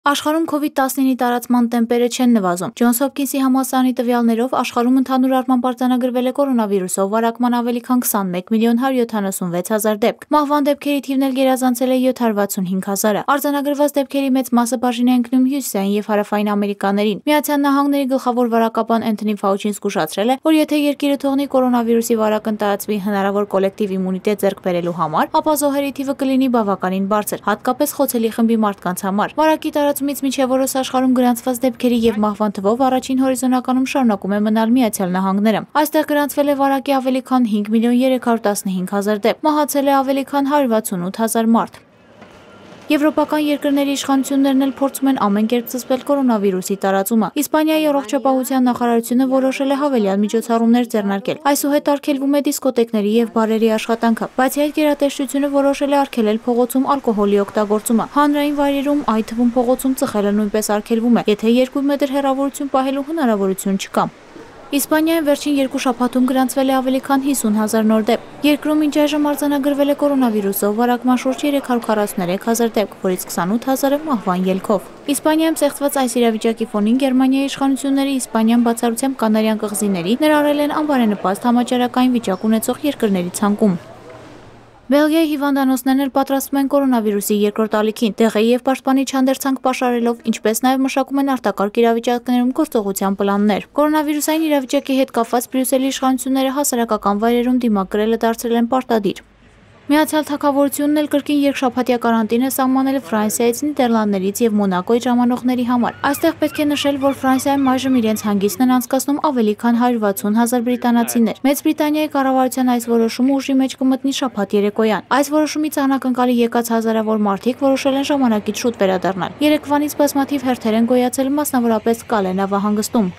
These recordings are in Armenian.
Աշխարհում COVID-19-ի տարածման տեմպերը չեն նվազում։ Ջոնս Հոփքինսի համալսարանի տվյալներով աշխարհում ընդհանուր առմամբ արձանագրվել է կորոնավիրուսով վարակման ավելի քան 21 միլիոն 176 հազար դեպք։ Մահվան դեպքերի թիվն էլ գերազանցել է 765 հազարը։ Արձանագրված դեպքերի մեծ մասը բաժին է ընկնում հյուսիսային եւ հարավային Ամերիկաներին։ Միացյալ Նահանգների գլխավոր վարակապան Էնթոնի Ֆաուչին զգուշացրել է, որ եթե երկիրը թողնի կորոնավիրուսի վարակն տարածվի հնարավոր կոլեկտիվ իմունիտետ ձեռք բերելու համար, ապա զոհերի թիվը կլինի բավականին բարձր, հատկապես խոցելի խմբի մարդկանց համար։ Վարակի տարածումից մինչև օրս աշխարհում գրանցված դեպքերի եւ մահվան թվով առաջին հորիզոնականում շարունակում է մնալ Միացյալ Նահանգները։ Այստեղ գրանցվել է վարակի ավելի քան 5 միլիոն 315 հազար դեպք, մահացել է ավելի քան 168 հազար մարդ։ Եվրոպական երկրների իշխանություններն էլ փորձում են ամեն կերպ զսպել կորոնավիրուսի տարածումը։ Իսպանիայի առողջապահության նախարարությունը որոշել է հավելյալ միջոցառումներ ձեռնարկել։ Այսուհետ արգելվում է դիսկոտեկների եւ բարերի աշխատանքը, բայց այդ գերատեսչությունը որոշել է արգելել փողոցում ալկոհոլի օգտագործումը։ Հանրային վայրերում, այդ թվում փողոցում ծխելը նույնպես արգելվում է, եթե 2 մետր հեռավորություն պահելու հնարավորություն չկա։ Իսպանիայում վերջին 2 շաբաթում գրանցվել է ավելի քան 50 հազար նոր դեպք։ Երկրում մինչ այժմ արձանագրվել է կորոնավիրուսով վարակման շուրջ 343 հազար դեպք, որից 28 հազարը մահվան ելքով։ Իսպանիայում ստեղծված այս իրավիճակի ֆոնին Գերմանիայի իշխանությունները Իսպանիան բացառությամբ Կանարյան կղզիների ներառել են անբարենպաստ համաճարակային վիճակ ունեցող երկրների ցանկում։ Բելգիայի հիվանդանոցներն էլ պատրաստվում են կորոնավիրուսի երկրորդ ալիքին, տեղի եւ պաշտպանիչ հանդերձանք պաշարելով, ինչպես նաեւ մշակում են արտակարգ իրավիճակներում գործողության պլաններ։ Կորոնավիրուսային իրավիճակի հետ կապված Բրյուսելի իշխանությունները հասարակական վայրերում դիմակ կրելը դարձրել են պարտադիր։ Միացյալ Թագավորությունն էլ կրկին երկշաբաթյա կարանտին է սահմանել Ֆրանսիայից, Նիդերլանդներից եւ Մոնակոյից ժամանողների համար։ Այստեղ պետք է նշել, որ Ֆրանսիայում այժմ իրենց հանգիստն են անցկացնում ավելի քան 160 հազար բրիտանացիներ։ Մեծ Բրիտանիայի կառավարության այս որոշումը ուժի մեջ կմտնի շաբաթ երեկոյան։ Այս որոշումից անակնկալի եկած հազարավոր մարդիկ որոշել են ժամանակից շուտ վերադառնալ։ Երեկվանից բազմաթիվ հերթեր են գոյացել, մասնավորապես Կալե նավահանգստում։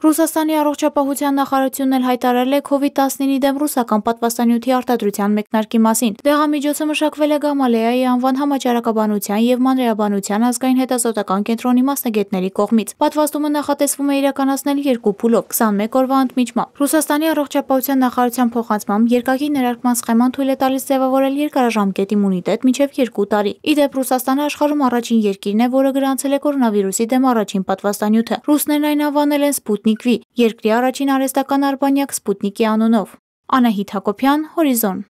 Ռուսաստանի առողջապահության նախարարությունն էլ հայտարարել է COVID-19-ի դեմ ռուսական պատվաստանյութի արտադրության մեկնարկի մասին։ Դեղամիջոցը մշակվել է Գամալեայի անվան համաճարակաբանության եւ մանրէաբանության ազգային հետազոտական կենտրոնի մասնագետների կողմից։ Պատվաստումը նախատեսվում է իրականացնել 2 փուլով 21 օրվա ընդմիջմամբ։ Ռուսաստանի առողջապահության նախարարության փոխանցմամբ երկակի ներարկման սխեման թույլ է տալիս ձևավորել երկարաժամկետ իմունիտետ մինչև 2 տարի։ Իդեպ Ռուսաստանը աշխարհում առաջին երկիրն է, որը գրանցել է կորոնավիրուսի դեմ առաջին պատվաստանյութը։ Ռուսներն այն անվանել են Սպուտնիկ V, երկրի առաջին արհեստական արբանյակ Սպուտնիկի անունով։ Անահիտ Հակոբյան, Հորիզոն։